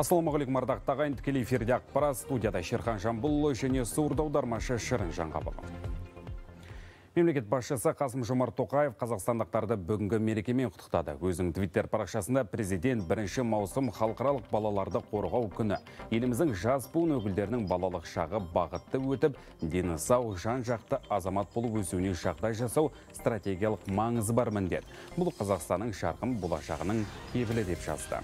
Ассалаумағалейкум ардақты ағайын, тікелей эфирде ақпарат, студияда Шерхан Жамбулұлы және сурда аудармашы Шырын Жаңғабылы. Мемлекет басшысы Қасым-Жомарт Тоқаев қазақстандықтарды бүгінгі мерекемен құттықтады. Өзінің Twitter парақшасында президент 1 маусым халықаралық балаларды қорғау күні. Еліміздің жас буын өкілдерінің балалық шағы бақытты өтіп, дені сау, жан-жақты азамат болып өсуіне жағдай жасау стратегиялық маңызы бар міндет. Бұл Қазақстанның жарқын болашағының кепілі деп жазды.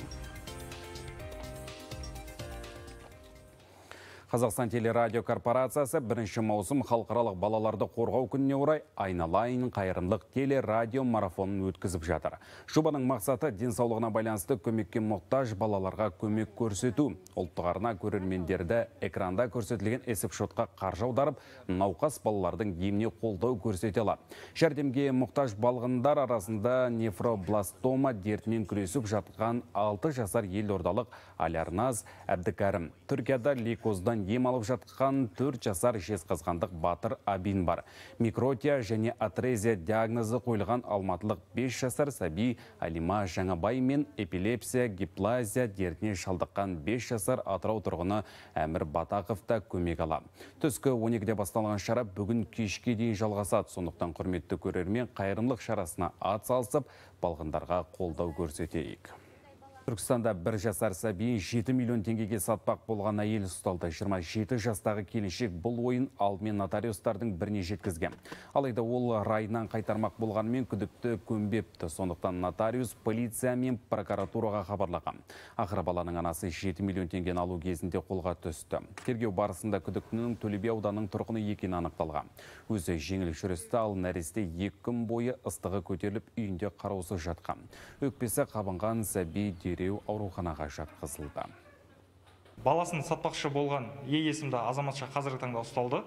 Қазақстан телерадио корпорациясы 1 маусым халықаралық балаларды қорғау күніне орай айналайын қайырымдылық телерадио марафонын өткізіп жатыр. Жобаның мақсаты денсаулығына байланысты көмекке мұқтаж балаларға көмек көрсету. Ұлттық арна көрермендерді экранда көрсетілген есепшотқа қаржы аударып, науқас балалардың еміне қолдау көрсете алады. Жәрдемге мұқтаж балғындар арасында нефробластома дертімен күресіп жатқан 6 жасар елордалық Алярназ Әбдікәрім. Түркияда лейкоздан ем алып жатқан 4 жасар жезқазғандық Батыр Абин бар. Микротия және атрезия диагнозы қойылған алматылық 5 жасар сәби Алима Жаңабай мен эпилепсия, гиплазия дертіне шалдыққан 5 жасар Атырау тұрғыны Әмір Батақов та көмек алады. Түскі 12-де басталған шара бүгін кешке дейін жалғасады. Сондықтан құрметті көрермен қайырымдылық шарасына ат салысып, балғындарға қолдау көрсетейік. Түркістанда 1 жасар сәбиін 7 миллион теңгеге сатпақ болған әйел ұсталды. 27 жастағы келіншек бұл ойын алдымен нотариустардың біріне жеткізген. Алайда ол райынан қайтармақ болғанымен күдікті көнбепті. Сондықтан нотариус полиция мен прокуратураға хабарлаған. Ақыры баланың анасы 7 миллион теңгені алу кезінде қолға түсті. Тергеу барысында күдіктінің Төле би ауданының тұрғыны екені анықталған. Өзі жеңіл жүрісті, ал нәресте 2 күн бойы ыстығы көтеріліп үйінде қараусыз жатқан. Өкпесі қабынған сәби дереу ауруханаға жатқызылды. Баласын сатпақшы болған есімді азаматша қазіргі таңда ұсталды.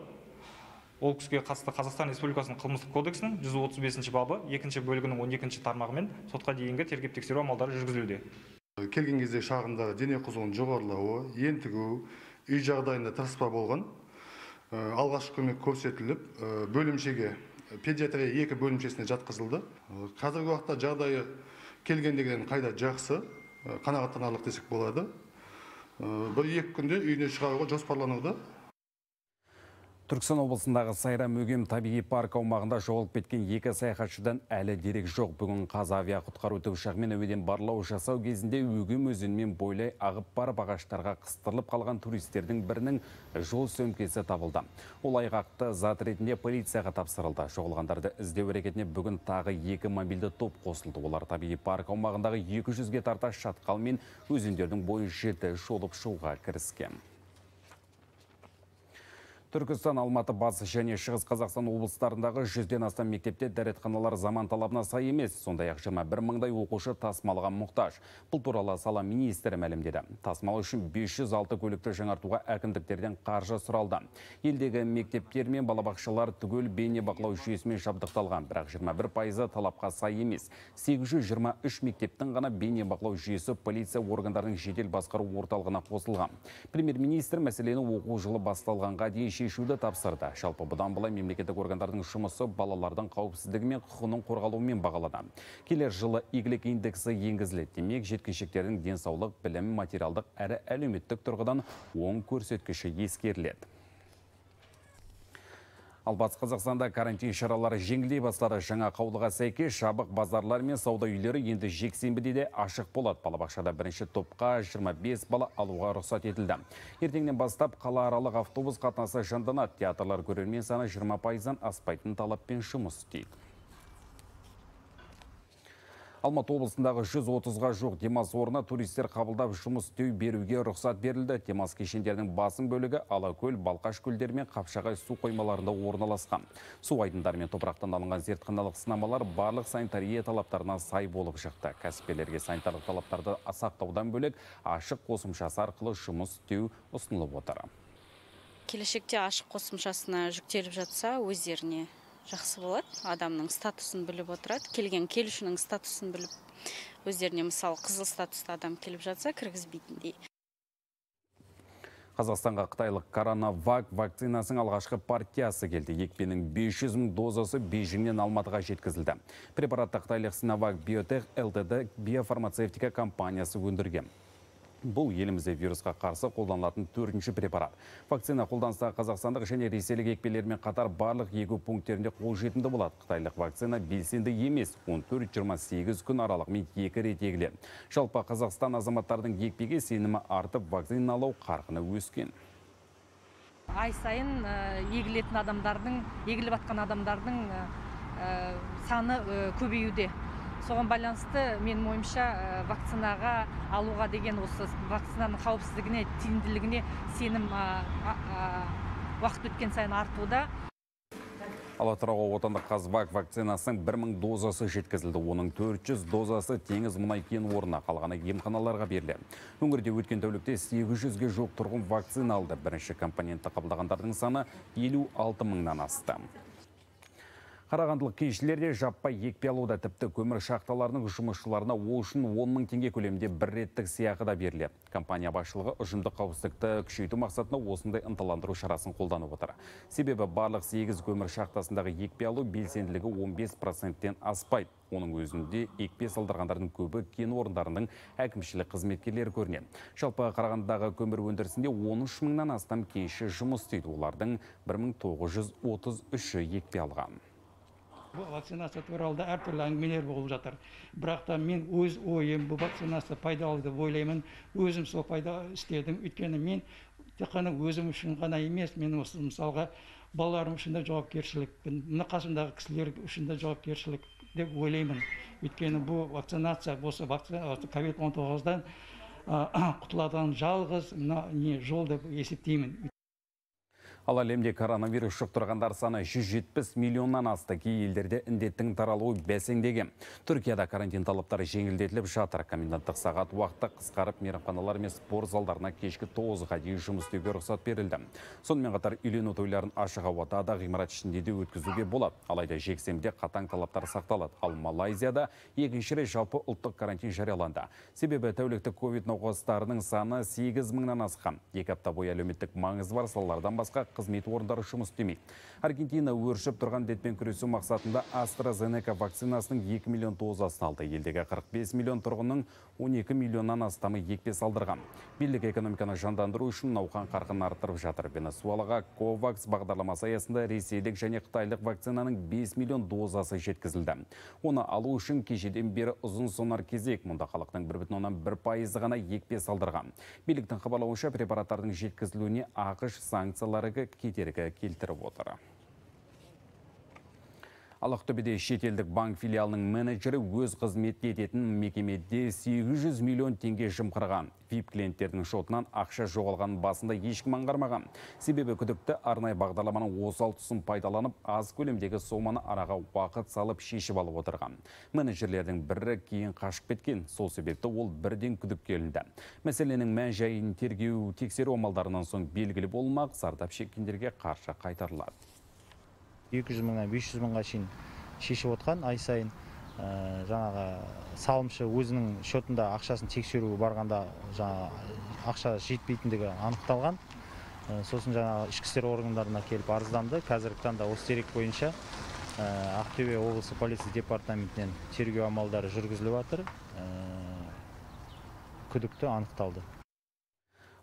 Ол кісіге қатысты Қазақстан Республикасының қылмыстық кодексінің 135 бабы 2 бөлігінің 12 тармағымен сотқа дейінгі тергеп-тексеру амалдары жүргізілуде. Келген кезде шағында дене қызуының жоғарылауы, ентігу, үй жағдайында тырыспа болған. Алғашқы көмек көрсетіліп, бөлімшеге педиатрия 2 бөлімшесіне жатқызылды. Қазіргі уақытта жағдайы келгендегіден қайда жақсы, қанағаттанарлық десек болады. 1-2 күнде үйіне шығаруға жоспарлануда. Түркістан облысындағы Сайрам Өгем табиғи парк аумағында жоғалып кеткен 2 саяхатшыдан әлі дерек жоқ. Бүгін Қазавиа құтқару тікұшағымен әуеден барлау жасау кезінде Өгем өзенмен бойлай ағып барып ағаштарға қыстырылып қалған туристердің бірінің жол сөмкесі табылды. Ол айғақты зат ретінде полицияға тапсырылды. Жоғалғандарды іздеу әрекетіне бүгін тағы 2 мобильді топ қосылды. Олар табиғи парк аумағындағы 200-ге тарта шатқал мен өзендердің бойын жіті шолып шығуға кіріскен. Түркістан, Алматы, Батыс және Шығыс Қазақстан облыстарындағы 100-ден астам мектепте дәретханалар заман талабына сай емес. Сондай-ақ 21 мыңдай оқушы тасымалға мұқтаж. Бұл туралы сала министрі мәлімдеді. Тасымал үшін 506 көлікті жаңартуға әкімдіктерден қаржы сұралды. Елдегі мектептер мен балабақшалар түгел бейне бақылау жүйесімен жабдықталған, бірақ 21% талапқа сай емес. 823 мектептің ғана бейне бақылау жүйесі полиция органдарының жедел басқару орталығына қосылған. Премьер-министр мәселені оқу жылы басталғанға дейін шешуді тапсырды. Жалпы бұдан былай мемлекеттік органдардың жұмысы балалардың қауіпсіздігі мен құқығының қорғалуымен бағалады. Келер жылы игілік индексі енгізіледі. Демек, жеткіншектердің денсаулық, білім, материалдық әрі әлеуметтік тұрғыдан оң көрсеткіші ескеріледі. Ал Батыс Қазақстанда карантин шаралары жеңілдей бастады. Жаңа қаулыға сәйкес жабық базарлар мен сауда үйлері енді жексенбіде де ашық болады. Балабақшада бірінші топқа 25 бала алуға рұқсат етілді. Ертеңнен бастап қалааралық автобус қатынасы жанданады. Театрлар көрермен саны 20%-дан аспайтын талаппен жұмыс істейді. Алматы облысындағы 130-ға жоқ демалыс орны туристер қабылдап жұмыс істеу беруге рұқсат берілді. Демалыс кешендерінің басым бөлігі Алакөл, Балқаш көлдері мен Қапшағай су қоймаларында орналасқан. Су айдындары мен топырақтан алынған зертханалық сынамалар барлық санитария талаптарына сай болып шықты. Кәсіпкерлерге санитарлық талаптарды сақтаудан бөлек ашық қосымшасы арқылы жұмыс істеу ұсынылып отыр. Келешекте ашық қосымшасына жүктеліп жатса, өздеріне жақсы болады. Адамның статусын біліп отырады. Келушінің статусын біліп, өздеріне мысалы қызыл статусты адам келіп жатса, кіргізбейтіндей. Қазақстанға қытайлық коронавак вакцинасының алғашқы партиясы келді. Екпенің 500 мың дозасы Бейжіңнен Алматыға жеткізілді. Препаратты қытайлық Sinovac Biotech Ltd биофармацевтика компаниясы өндірген. Бұл елімізде вирусқа қарсы қолданылатын 4-ші препарат. Вакцина қолданыстағы қазақстандық және ресейлік екпелермен қатар барлық егу пункттерінде қолжетімді болады. Қытайлық вакцина белсенді емес, 14-28 күн аралығымен 2 рет егіледі. Жалпы Қазақстан азаматтардың екпеге сенімі артып, вакциналау қарқыны өскен. Ай сайын егілетін адамдардың, егіліп атқан адамдардың саны көбеюде. Соған байланысты менің ойымша вакцинаға алуға деген осы вакцинаның қауіпсіздігіне, тиімділігіне сенім уақыт өткен сайын артуда. Ал Атырауға отандық Қазбак вакцинасының 1000 дозасы жеткізілді. Оның 400 дозасы теңіз мұнай кен орнына, қалғаны емханаларға берілді. Өңірде өткен тәулікте 800-ге жуық тұрғын вакцина алды. Бірінші компонентті қабылдағандардың саны 56 мыңнан асты. Қарағандылық кеншілерде жаппай екпе алуда, тіпті көмір шахталарының жұмысшыларына ол үшін 10 мың теңге көлемінде бір реттік сыйақы да беріледі. Компания басшылығы ұжымдық қауіпсіздікті күшейту мақсатында осындай ынталандыру шарасын қолданып отыр. Себебі барлық 8 көмір шахтасындағы екпе алу белсенділігі 15%-тен аспайды. Оның өзінде екпе салдырғандардың көбі кен орындарының әкімшілік қызметкерлері көрінеді. Жалпы Қарағандыдағы көмір өндірісінде 13 мыңнан астам кенші жұмыс істейді. Олардың 1933-і екпе алған. Бұл вакцинация туралы әртүрлі әңгімелер болып жатыр. Бірақ та мен өз ойым, бұл вакцинация пайдалы деп ойлаймын. Өзім сол пайда істедім. Өйткені мен тек қана өзім үшін ғана емес, мен осы мысалға балаларым үшін де жауапкершілікпін. Мына қасымдағы кісілер үшін де жауапкершілік деп ойлаймын. Өйткені бұл вакцинация, осы COVID-19-дан құтылатын жалғыз жол деп есептеймін. Ал әлемде коронавирус жұқтырғандар саны 170 миллионнан асты. Кей елдерде індеттің таралуы бәсеңдеген. Түркияда карантин талаптары жеңілдетіліп жатыр. Коменданттық сағат уақытта қысқарып, мейрамханалар мен спорт залдарына кешкі 9-ға дейін жұмыс істеуге рұқсат берілді. Сонымен қатар үйлену тойларын ашық ауада да ғимарат ішінде де өткізуге болады. Алайда жексенбіде қатаң талаптар сақталады. Ал Малайзияда екінші рет жалпы ұлттық карантин жарияланды. Себебі тәуліктік ковид науқастарының саны 8 мыңнан асқан. 2 апта бойы әлеуметтік маңызы бар салалардан басқа қызмет орындары жұмыс істемейді. Аргентина өршіп тұрған індетпен күресу мақсатында AstraZeneca вакцинасының 2 миллион дозасын алды. Елдегі 45 миллион тұрғынның 12 миллионнан астамы екпе салдырған. Билік экономиканы жандандыру үшін науқан қарқынын арттырып жатыр. Венесуэлаға COVAX бағдарламасы аясында ресейлік және қытайлық вакцинаның 5 миллион дозасы жеткізілді. Оны алу үшін кешеден бері ұзын сонар кезек. Мұнда халықтың 1,1% ғана екпе салдырған. Биліктің хабарлауынша препараттардың жеткізілуіне ақш санкциялары кедергі келтіріп отыр. Ал Ақтөбеде шетелдік банк филиалының менеджері өз қызмет ететін мекемеде 800 миллион теңге жымқырған. VIP клиенттердің шотынан ақша жоғалған басында ешкім аңғармаған. Себебі күдікті арнайы бағдарламаның осал тұсын пайдаланып, аз көлемдегі соманы араға уақыт салып шешіп алып отырған. Менеджерлердің бірі кейін қашып кеткен. Сол себепті ол бірден күдікке ілінді. Мәселенің мән-жайын тергеу тексеру амалдарынан соң белгілі болмақ, зардап шеккендерге қаржы қайтарылады. 200 мыңнан 500 мыңға шейін шешіп отқан ай сайын. Жаңағы салымшы өзінің шотында ақшасын тексеру барғанда ақша жетпейтіндігі анықталған. Сосын жаңағы ішкі істер органдарына келіп арызданды. Қазіргі таңда осы дерек бойынша Ақтөбе облысы полиция департаментінен тергеу амалдары жүргізіліп жатыр. Күдікті анықталды.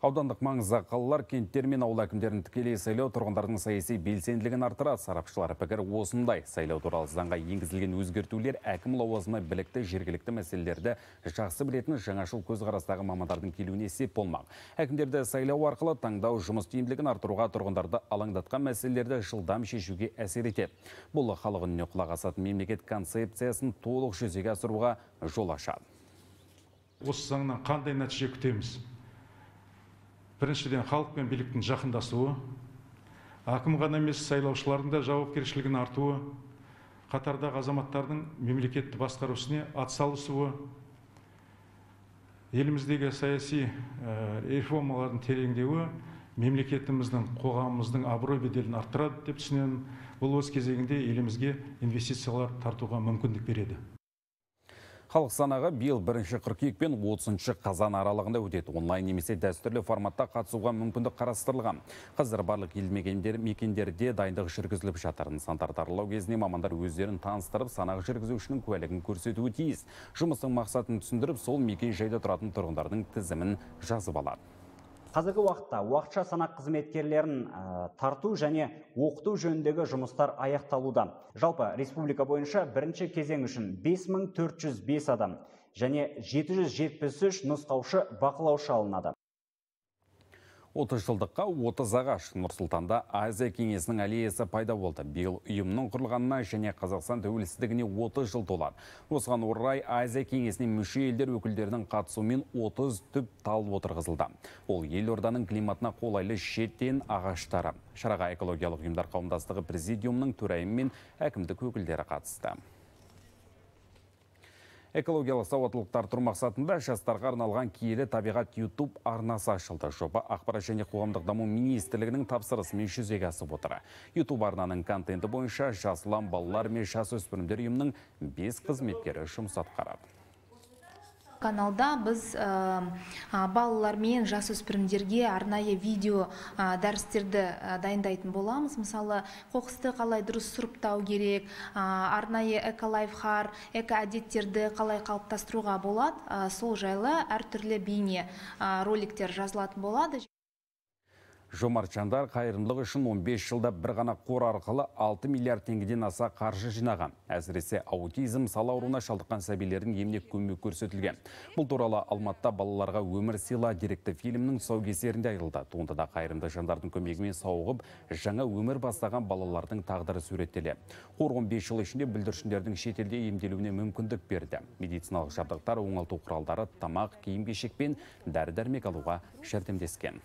Аудандық маңызды қалалар кенттер мен ауыл әкімдерін тікелей сайлау тұрғындардың саяси белсенділігін арттырады. Сарапшылар пікір осындай. Сайлау туралы заңға енгізілген өзгертулер әкім лауазымына білікті жергілікті мәселелерді жақсы білетін жаңашыл көзқарастағы мамандардың келуіне сеп болмақ. Әкімдерді сайлау арқылы таңдау жұмыс тиімділігін арттыруға, тұрғындарды алаңдатқан мәселелерді жылдам шешуге әсер етеді. Бұл халық үніне құлақ асатын мемлекет концепциясын толық жүзеге асыруға жол ашады. Осы заңнан қандай нәтиже күтеміз? Біріншіден, халық пен биліктің жақындасуы, әкім ғана емес сайлаушылардың да жауапкершілігін артуы, қатардағы азаматтардың мемлекетті басқару ісіне атсалысуы, еліміздегі саяси реформалардың тереңдеуі мемлекетіміздің, қоғамымыздың абырой беделін арттырады деп түсінемін. Бұл өз кезегінде елімізге инвестициялар тартуға мүмкіндік береді. Халық санағы биыл 1 қыркүйек пен 30 қазан аралығында өтеді. Онлайн немесе дәстүрлі форматта қатысуға мүмкіндік қарастырылған. Қазір барлық елді мекендерде дайындық жүргізіліп жатыр. Нысандарды аралау кезінде мамандар өздерін таныстырып, санақ жүргізушінің куәлігін көрсетуі тиіс. Жұмыстың мақсатын түсіндіріп, сол мекен жайда тұратын тұрғындардың тізімін жазып алады. Қазіргі уақытта уақытша санақ қызметкерлерін тарту және оқыту жөніндегі жұмыстар аяқталуда. Жалпы республика бойынша бірінші кезең үшін 5405 адам және 773 нұсқаушы бақылаушы алынады. 30 жылдыққа 30 ағаш Нұр-Сұлтанда Азия кеңесінің аллеясы пайда болды. Биыл ұйымның құрылғанына және Қазақстан тәуелсіздігіне 30 жыл толады. Осыған орай Азия кеңесіне мүше елдер өкілдерінің қатысуымен 30 түп тал отырғызылды. Ол елорданың климатына қолайлы шеттен ағаштары. Шараға экологиялық ұйымдар қауымдастығы президиумның төрайымы мен әкімдік өкілдері қатысты. Экологиялық сауаттылықтар тұру мақсатында жастарға арналған киелі табиғат YouTube арнасы ашылды. Жоба Ақпарат және қоғамдық даму министрлігінің тапсырысымен жүзеге асып отыр. YouTube арнаның контенті бойынша жас ұлан балалар мен жасөспірімдер ұйымының 5 қызметкері жұмыс атқарады. Каналда біз балалар мен жасөспірімдерге арнайы видео дәрістерді дайындайтын боламыз. Мысалы, қоқысты қалай дұрыс сұрыптау керек, арнайы эко-лайфхар, эко-әдеттерді қалай қалыптастыруға болады. Сол жайлы әртүрлі бейне роликтер жазылатын болады. Жомарт жандар қайырымдылық үшін 15 жылда бір ғана қор арқылы 6 миллиард теңгеден аса қаржы жинаған. Әсіресе аутизм сал ауруына шалдыққан сәбилердің еміне көмек көрсетілген. Бұл туралы Алматыда балаларға өмір сыйла деректі фильмнің тұсаукесерінде айтылды. Туындыда қайырымды жандардың көмегімен сауығып, жаңа өмір бастаған балалардың тағдыры суреттеледі. Қор 15 жыл ішінде бүлдіршіндердің шетелде емделуіне мүмкіндік берді. Медициналық жабдықтар, оңалту құралдары, тамақ, киім-кешек пен дәрі-дәрмек алуға жәрдемдескен.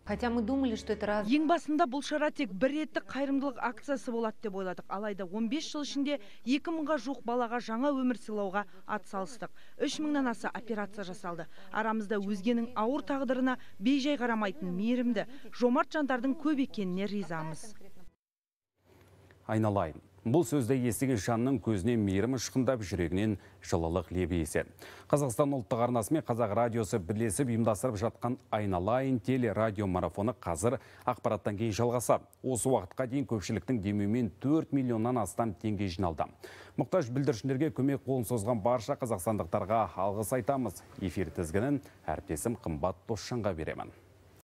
Ең басында бұл шара тек бір реттік қайырымдылық акциясы болады деп ойладық. Алайда 15 жыл ішінде 2000-ға жуық балаға жаңа өмір сыйлауға атсалыстық. 3000-нан аса операция жасалды. Арамызда өзгенің ауыр тағдырына бейжай қарамайтын мейірімді, жомарт жандардың көп екеніне ризамыз. Айналайын. Бұл сөзді естіген жанның көзіне мейірім ұшқындап, жүрегінен жылылық лебі еседі. Қазақстан ұлттық арнасы мен Қазақ радиосы бірлесіп ұйымдастырып жатқан Айналайын телерадио марафоны қазір ақпараттан кейін жалғасады. Осы уақытқа дейін көпшіліктің демеуімен 4 миллионнан астам теңге жиналды. Мұқтаж бүлдіршіндерге көмек қолын созған барша қазақстандықтарға алғыс айтамыз. Эфир тізгінін әріптесім Қымбат Досжанға беремін.